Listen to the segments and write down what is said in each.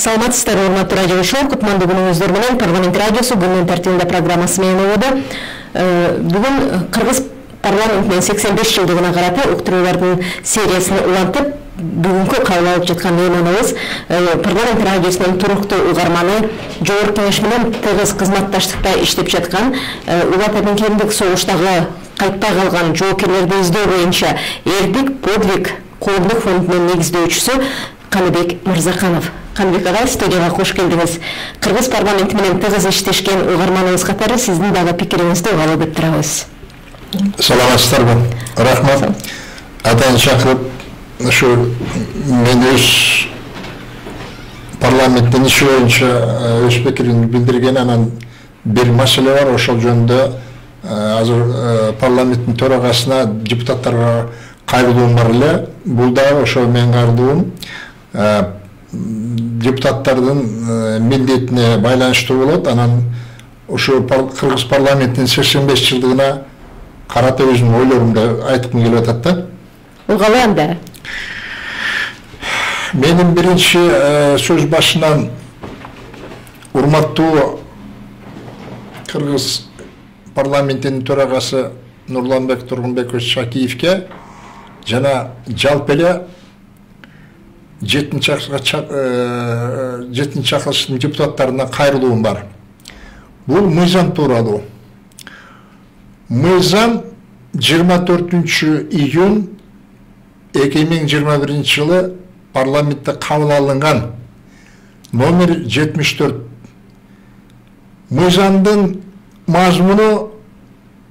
Саламатсыздар, урматтуу радио шоу. Кутмандуу күнүңүздөр менен парламент радиосу күндүн тартибинде программасы менен болууда. Бүгүн Кыргыз парламентинин 85 жылдыгына карата уктуруулардын сериясына улантып, бүгүнкү кабыл алып жаткан мейманыбыз парламент радиосунун туруктуу угарманы, Жогорку Кеңеш менен тыгыз кызматташтыкта иштеп жаткан, Улуу Ата Мекендик согуштагы кайтпай калган жоокерлерди издөө боюнча Эрдик подвиг коомдук фондунун негиздөөчүсү Каныбек Мырзаканов. Каныбек ага, студияга кош келдиңиз. Кыргыз парламенти менен тыгыз иштешкен угарманыбыз катары сиздин дагы пикириңизди угалы деп турабыз. Саламатсыздарбы? Рахмат. Атайын чакырып, ушу мен өз парламенттин иши боюнча өз пикиримди билдирген, анан бир маселе бар, ошол жөнүндө азыр парламенттин төрагасына, депутаттарга кайрылуум бар эле. Бул дагы ошо менин кайрылуум депутаттардын милдетине байланыштуу болот. Анан ушу Кыргыз парламентинин 85 жылдыгына карата өзүмдүн ойлорумду айткым келип атат да. Угалы анда. Менин биринчи сөз башынан урматтуу Кыргыз парламентинин төрагасы Нурланбек Тургунбекович Шакиевке жана жалпы эле 7-чи чакырылыштын депутаттарына кайрылуум бар. Бул мыйзам тууралуу. Мыйзам 24-июнь 2021 жылы парламентте кабыл алынган, номер 74. Мыйзамдын мазмуну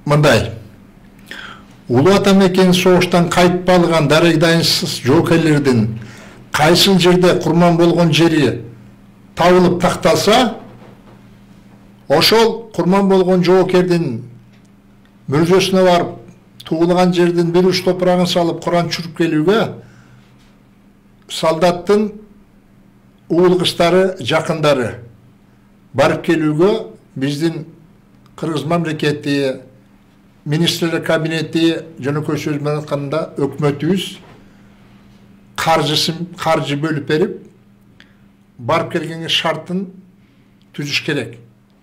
мындай: Улуу Ата Мекендик согуштан кайтпай калган дарыгдайынсыз жоокерлердин кайсыл жерде курман болгон жери табылып такталса, ошол курман болгон жоокердин мүрзөсүнө барып, туулган жердин бир уч топурагын салып Куран чүрүп келүүгө солдаттын уулгучтары, жакындары барып келүүгө биздин Кыргыз мамлекети министрлер кабинети, жөнөкөй сөз менен айтканда өкмөтүбүз каржы бөлүп берип, барып келгенге шартын түзүш керек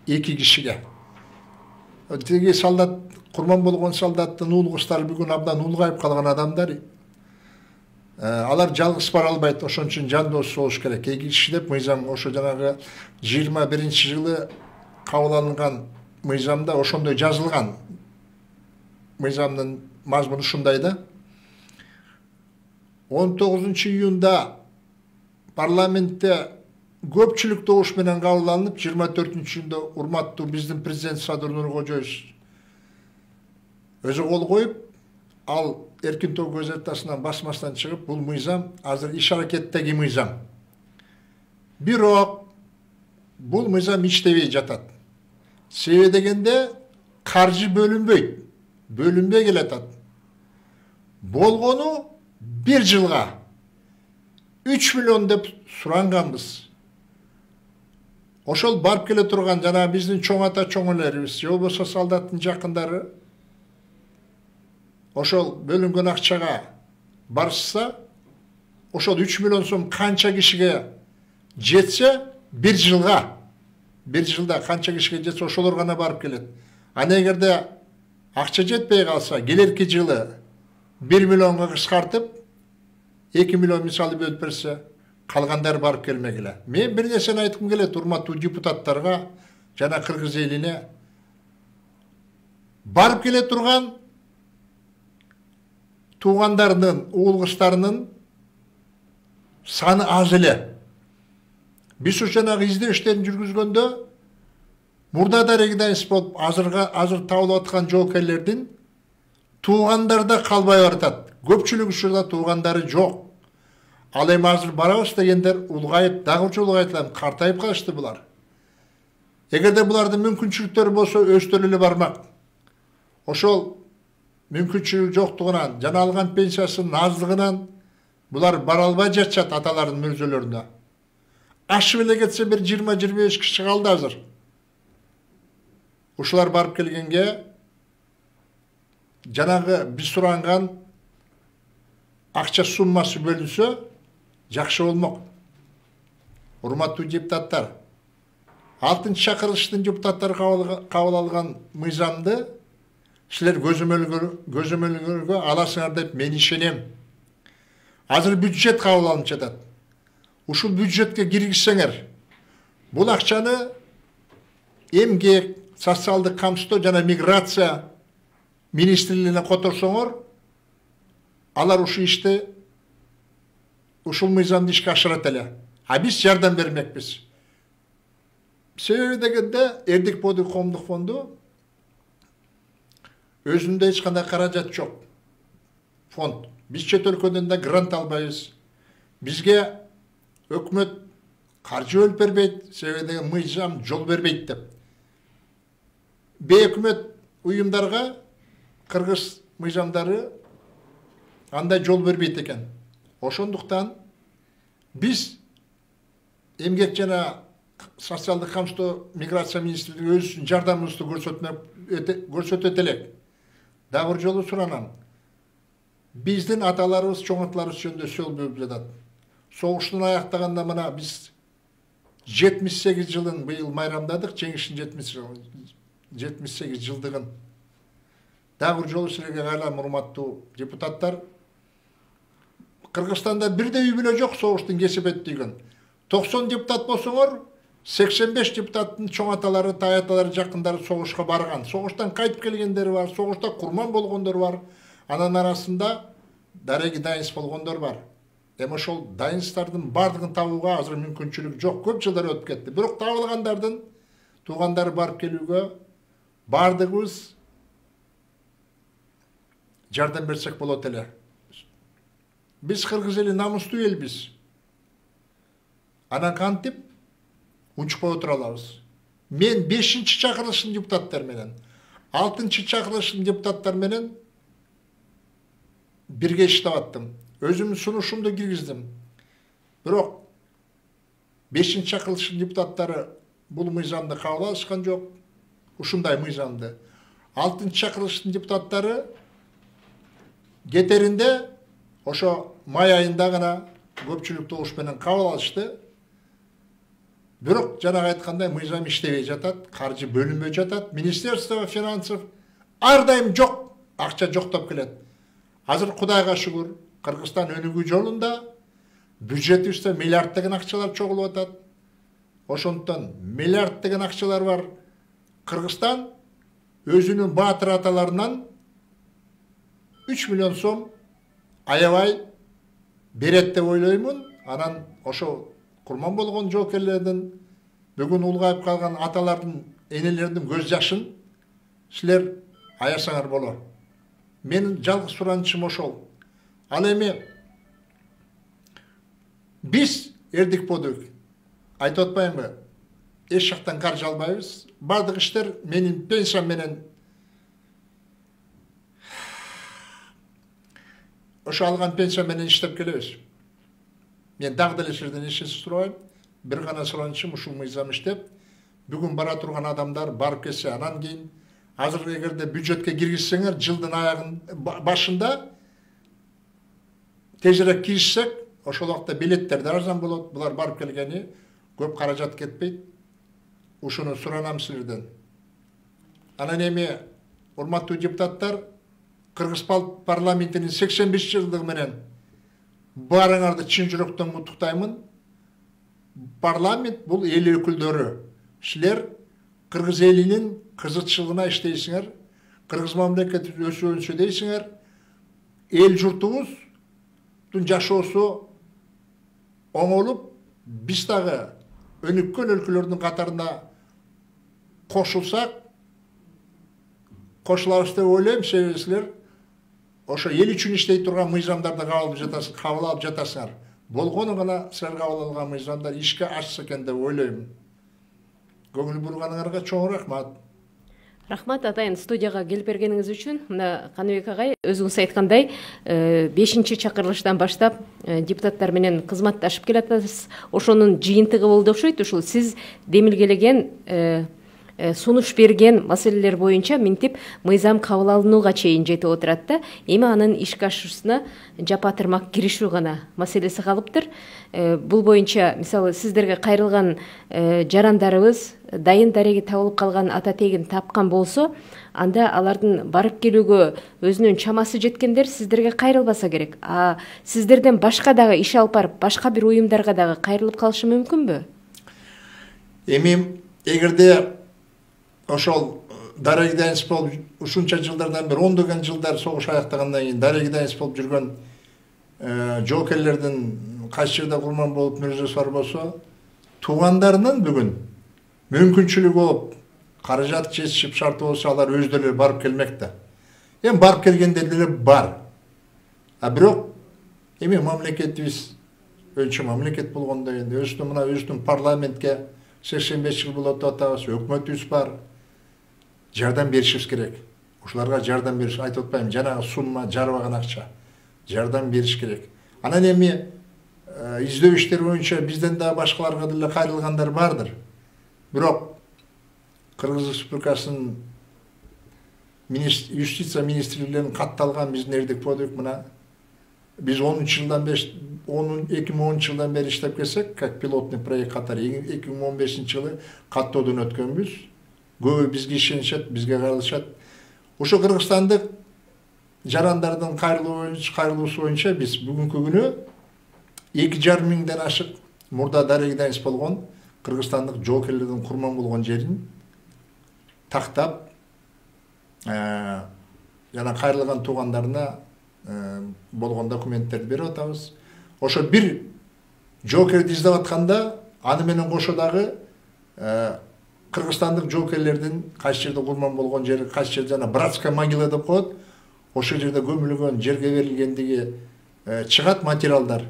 2 кишиге. Тиги солдат, курман болгон солдаттын уулгучтары бүгүн абдан улгайып калган адамдар. Алар жалгыз бара албайт, ошон үчүн жан дос болуш керек. 2 киши деп мыйзам ошо жанагы 21 жылы кабыл алынган мыйзамда ошондой жазылган. Мыйзамдын мазмуну ушундай да. 19 июнда парламентте көпчүлүк добуш менен кабыл алынып, 24-июнда урматтуу биздин президент Садыр Нуркожоевич өзү кол коюп, ал Эркин Тоо газетасынан басмастан чыгып, бул мыйзам азыр иш аракеттеги мыйзам. Бирок бул мыйзам иштебей жатат. Себеби дегенде каржы бөлүнбөй келатат. Болгону 1 жылга 3 миллион деп суранганбыз. Ошол барып келе турган жана биздин чоң ата чоңөлөрүбүз, же болбосо солдаттын жакындары ошол бөлүнгөн акчага барышса, ошол 3 миллион сом канча кишиге жетсе, 1 жылда канча кишиге жетсе, ошолор гана барып келет. Ана эгерде акча жетпей калса, келерки жылы 1 миллионго кыскартып, 2 миллион мисалы бөлүп берсе, калгандар барып келмек эле. Мен бир нерсени айткым келет урматтуу депутаттарга жана кыргыз элине. Барып келе турган туугандардын, уулгучтарынын саны аз эле. Биз ушу жанагы издөө иштерин жүргүзгөндө мурда дарыгдайынсыз болуп азыр табылып аткан жоокерлердин туугандарда калбай баратат. Көпчүлүк учурда туугандары жок. Ал эми азыр барабыз дегендер улгайып, дагы улгайтылат, картайып калышты булар. Эгерде булардын мүмкүнчүлүктөрү болсо, өздөрү эле бармак. Ошол мүмкүнчүлүгү жоктугунан, жана алган пенсиясынын аздыгынан булар бара албай жатышат аталардын мүрзөлөрүнө. Ашып эле кетсе бир 20-25 киши калды азыр. Ушулар барып келгенге жанагы биз суранган акча суммасы бөлүнсө, жакшы болмок. урматтуу депутаттар, 6 чакырылыштын депутаттары кабыл алган мыйзамды силер көзөмөлгөргө аласыңар деп мен ишенем. Азыр бюджет кабыл алынып жатат. Ушул бюджетке киргизсеңер, бул акчаны эмгек, социалдык камсыздоо жана миграция министрлигине которсоңор, алар ушул ишти, ушул мыйзамды ишке ашырат эле. А биз жардам бермекпиз. Себеби дегенде Эрдик Подый коомдук фонду өзүндө эч кандай каражат жок. Фонд. Биз чет өлкөдөн да грант албайбыз. Бизге өкмөт каржы бөлүп бербейт, себеби деген мыйзам жол бербейт деп. Бейөкмөт уюмдарга кыргыз мыйзамдары андай жол бербейт экен. Ошондуктан биз эмгек жана социалдык камсыздоо миграция министрлиги өз жардамыбызды көрсөтөт элек. Дагы бир жолу суранам. Биздин аталарыбыз, чоң аталарыбыз жөнүндө сөз болуп жатат. Согуштун аяктаганда мына биз 78 жылын быйыл майрамдадык, жеңиштин 78 жылдыгын. Дагы бир жолу силерге кайрылам, урматтуу депутаттар. Кыргызстанда бирде үй бүлө жок согуштун кесип өттүгөн. 90 депутат болсоңор, 85 депутаттын чоң аталары, тай аталары, жакындары согушка барган. Согуштан кайтып келгендери бар, согушта курман болгондор бар. Анын арасында дареги дайынс болгондор бар. Эми ошол дайынстардын бардыгын табууга азыр мүмкүнчүлүк жок. Көп жылдар өтүп кетти. Бирок табылгандардын туугандары барып келүүгө бардыгыбыз жардам берсек болот эле. Биз кыргыз эли намустуу элбиз. Анан кантип унчукпай отура алабыз. Мен 5-чи чакырылыштын депутаттары менен, 6-чы чакырылыштын депутаттары менен бирге иштеп аттым. Өзүмдүн сунушумду киргиздим. Бирок 5-чи чакырылыштын депутаттары бул мыйзамды кабыл алышкан жок. Ушундай мыйзамды. 6-чы чакырылыштын депутаттары кетеринде ошо май айында гана көпчүлүк добуш менен кабыл алышты. Бирок жанагы айткандай мыйзам иштебей жатат, каржы бөлүнбөй жатат. Министерство финансов ар дайым жок, акча жоктоп келет. Азыр Кудайга шүгүр, Кыргызстан өнүгүү жолунда бюджетибизде миллиарддаган акчалар чогулуп атат. Ошондуктан миллиарддаган акчалар бар. Кыргызстан өзүнүн баатыр аталарынан 3 миллион сом аябай берет деп ойлоймун. Анан ошо курман болгон жоокерлердин, бүгүн улгайып калган аталардын, энелердин көз жашын силер аясаңар болот. Менин жалгыз суранычым ошол. Ал эми биз Эрдик Подый айтып атпаймынбы? Эч жактан каржы албайбыз. Бардык иштер менин пенсиям менен ошо алган пенсия менен иштеп келебиз. Мен дагы деле сизден эч нерсе сурабайм. Бир гана суранычым ушул мыйзам иштеп, бүгүн бара турган адамдар барып келсе, анан кийин азыр эгерде бюджетке киргизсеңер, жылдын аягын башында тезирээк киришсек, ошол убакта билеттер да арзан болот. Булар барып келгени көп каражат кетпейт. Ушуну суранам силерден. Анан эми урматтуу депутаттар, Кыргыз парламентинин 85 жылдыгы менен баарыңарды чын жүрөктөн куттуктаймын. Парламент бул эл өкүлдөрү. Силер Кыргыз элинин кызыкчылыгына иштейсиңер, Кыргыз мамлекети өсүүнү дейсиңер. Эл журтубуздун жашоосу оңолуп, биз дагы өнүккөн өлкөлөрдүн катарына кошулабыз деп ойлойм. Себеби силер ошо эл үчүн иштей турган мыйзамдарды кабыл алып жатасыңар. Болгону гана силер кабыл алган мыйзамдар ишке ашса экен деп ойлойм. Көңүл бурганыңарга чоң рахмат. Рахмат атайын студияга келип бергениңиз үчүн. Мына Каныбек агай өзүңүз айткандай 5-чи чакырылыштан баштап депутаттар менен кызматташып келатасыз. Ошонун жыйынтыгы болду окшойт. Ушул сиз демилгелеген сунуш берген маселелер боюнча минтип мыйзам кабыл алынууга чейин жетип отурат да. Эми анын ишке ашуусуна жапатырмак киришүү гана маселеси калыптыр. Бул боюнча мисалы сиздерге кайрылган жарандарыбыз дайын дареги табылып калган ата тегин тапкан болсо, анда алардын барып келүүгө өзүнүн чамасы жеткендер сиздерге кайрылбаса керек. Сиздерден башка дагы иш алып барып, башка бир уюмдарга дагы кайрылып калышы мүмкүнбү? Эми эгерде ошол дареги дайынс болуп ушунча жылдардан бери ондогон жылдар согуш аяктагандан кийин дареги дайынс болуп жүргөн жоокерлердин кайсы жерде курман болуп мүрөжөсү бар болсо, туугандарынын бүгүн мүмкүнчүлүгү болуп, каражат жетишип шарты болсо, алар өздөрү барып келмек да. Эми барып келгендер деле бар. Бирок эми мамлекетибиз өлчү мамлекет болгондо энди өзүнүн парламентке 85 жыл болот деп атабыз, өкмөтүбүз бар. Жардам беришибиз керек. Ушуларга жардам бериш, айтып атпайм, жанагы сумма жарбаган акча. Жардам бериш керек. Анан эми издөө иштери боюнча бизден да башкаларга деле кайрылгандар бардыр. Бирок Кыргыз Республикасынын юстиция министрлигинен катталган биздин эрдик подвиг мына биз 2010 жылдан бери иштеп келсек, как пилотный проект катары 2015 жылы каттоодон өткөнбүз. Көбү бизге ишенишет, бизге кайрылышат. Ошо кыргызстандык жарандардын кайрылуусу боюнча биз бүгүнкү күнү 2,5 миңден ашык мурда дареги дайынс болгон кыргызстандык жоокерлердин курман болгон жерин тактап, жана кайрылган туугандарына болгон документтерди берип атабыз. Ошо бир жоокерди издеп атканда, аны менен кошо дагы кыргызстандык жоокерлердин кайсы жерде курман болгон жери, кайсы жерде жана братская могила деп коет, ошол жерде көмүлгөн, жерге берилгендиги чыгат материалдар.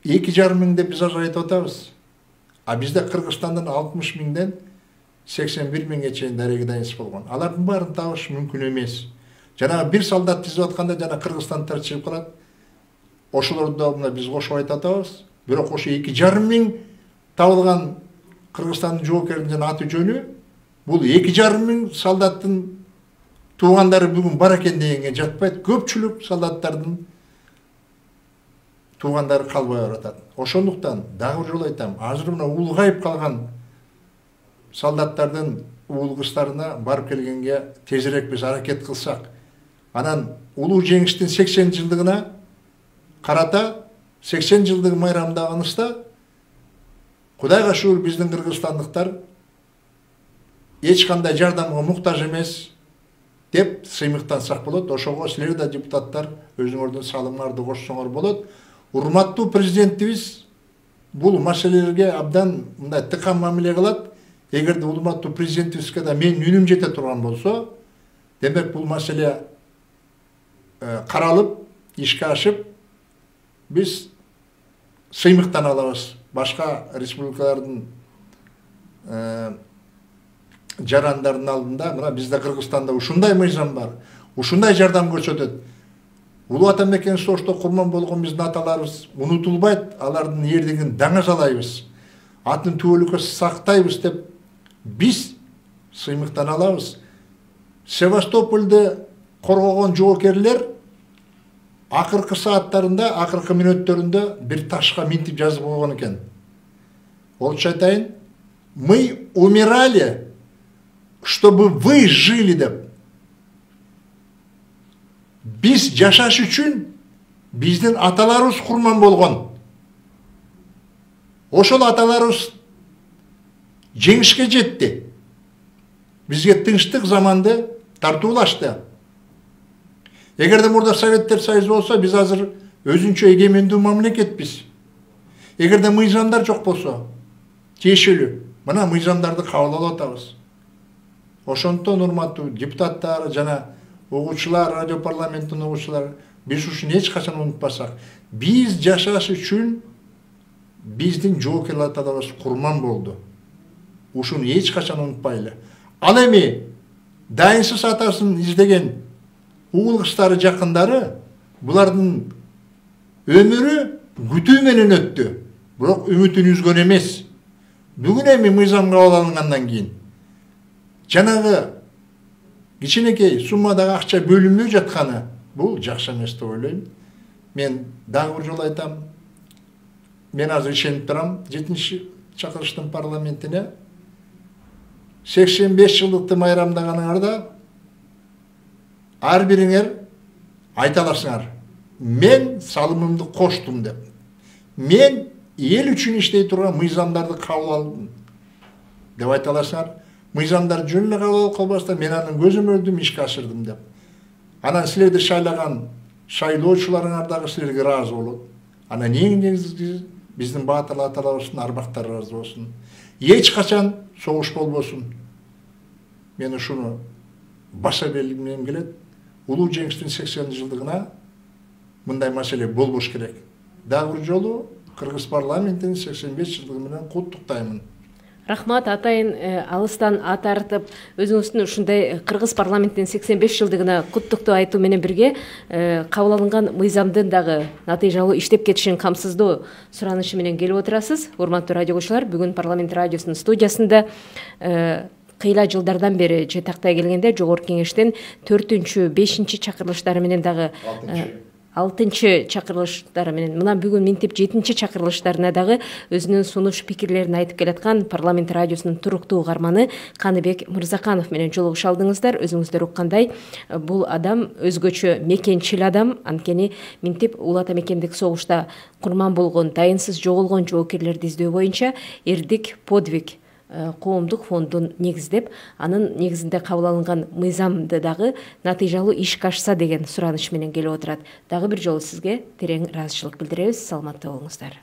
2,5 миң деп биз азыр айтып атабыз. Бизде Кыргызстандан 60 миңден 81 миңге чейин дареги дайынс болгон. Алардын баарын табыш мүмкүн эмес. Жанагы бир солдат издеп атканда жана кыргызстандыктар чыгып калат. Ошолорду мына биз кошуп айтып атабыз. Бирок ошо 2,5 миң табылган Кыргызстандын жоокеринин жана аты жөнү, бул 2,5 миң солдаттын туугандары бүгүн бар экен дегенге жатпайт. Көпчүлүк солдаттардын туугандары калбай баратат. Ошондуктан дагы бир жолу айтам, азыр мына улгайып калган солдаттардын уул кыздарына барып келгенге тезирээк биз аракет кылсак, анан улуу жеңиштин 80 жылдыгына карата 80 жылдыгы майрамдаганыбызда Кудайга шүгүр биздин кыргызстандыктар эч кандай жардамга муктаж эмес деп сыймыктансак болот. Ошого силер да депутаттар өзүңөрдүн салымыңарды кошсоңор болот. Урматтуу президентибиз бул маселелерге абдан мындай тыкан мамиле кылат. Эгерде урматтуу президентибизге да менин үнүм жете турган болсо, демек бул маселе каралып, ишке ашып, биз сыймыктан алабыз. Башка республикалардын жарандардын алдында мына бизде Кыргызстанда ушундай мыйзам бар, ушундай жардам көрсөтөт. Улуу ата мекен согушта курман болгон биздин аталарыбыз унутулбайт, алардын эрдигин даңазалайбыз, атын түбөлүккө сактайбыз деп биз сыймыктан алабыз. Севастополду коргогон жоокерлер акыркы сааттарында, акыркы мүнөттөрүндө бир ташка минтип жазып койгон экен. Орусча айтайын, мы умирали, чтобы вы жили деп. Биз жашаш үчүн биздин аталарыбыз курман болгон. Ошол аталарыбыз жеңишке жетти. Бизге тынчтык заманды тартуулашты. Эгерде мурда Советтер Союзу болсо, биз азыр өзүнчө эгемендүү мамлекетпиз. Эгерде мыйзамдар жок болсо, тиешелүү, мына мыйзамдарды кабыл алып атабыз. Ошондон урматтуу депутаттар жана угуучулар, радио парламенттин угуучулары, биз ушуну эч качан унутпасак, биз жашаш үчүн биздин жоокер аталарыбыз курман болду. Ушуну эч качан унутпайлы. Ал эми дайынсыз атасын издеген уул кыздары жакындары булардын өмүрү күтүү менен өттү. Бирок үмүтүн үзгөн эмес. бүгүн эми мыйзам кабыл алынгандан кийин жанагы кичинекей суммадагы акча бөлүнбөй жатканы бул жакшы эмес деп ойлойм. Мен дагы бир жолу айтам, мен азыр ишенип турам 7-чи чакырыштын парламентине 85 жылдыкты майрамдаганыңарда ар бириңер айта аласыңар, мен салымымды коштум деп. Мен эл үчүн иштей турган мыйзамдарды кабыл алдым деп айта аласыңар. Мыйзамдар жөн эле кабыл кылбастан мен анын көзөмөлдүн ишке ашырдым деп. Анан силерди шайлаган шайлоочуларыңар дагы силерге ыраазы болот. Анан эң негизгиси биздин баатыр аталарыбыздын арбактар ыраазы болсун. Эч качан согуш болбосун. Мен ушуну баса белгилегим келет. Улуу жеңиштин 80-жылдыгына мындай маселе болбош керек. Дагы бир жолу Кыргыз парламентинин 85 жылдыгы менен куттуктаймын. Рахмат атайын, алыстан ат артып, өзүңүздүн ушундай Кыргыз парламентинин 85 жылдыгына куттуктуу айтуу менен бирге кабыл алынган мыйзамдын дагы натыйжалуу иштеп кетишин камсыздоо суранышы менен келип отурасыз. Урматтуу радио көрүүчүлөр, бүгүн парламент радиосунун студиясында кыйла жылдардан бери жетактай келгенде Жогорку Кеңештин 4-5 чакырылыштары менен дагы 6-чы чакырылыштары менен мына бүгүн минтип 7-чи чакырылыштарына дагы өзүнүн сунуш пикирлерин айтып келаткан парламент радиосунун туруктуу угарманы Каныбек Мырзаканов менен жолугуша алдыңыздар. Өзүңүздөр уккандай, бул адам өзгөчө мекенчил адам, анткени минтип Улуу Ата Мекендик согушта курман болгон, дайынсыз жоголгон жоокерлерди издөө боюнча эрдик подвиг коомдук фондун негиздеп, анын негизинде кабыл алынган мыйзамды дагы натыйжалуу ишке ашса деген сураныш менен келип отурат. Дагы бир жолу сизге терең ыраазычылык билдиребиз. Саламатта болуңуздар.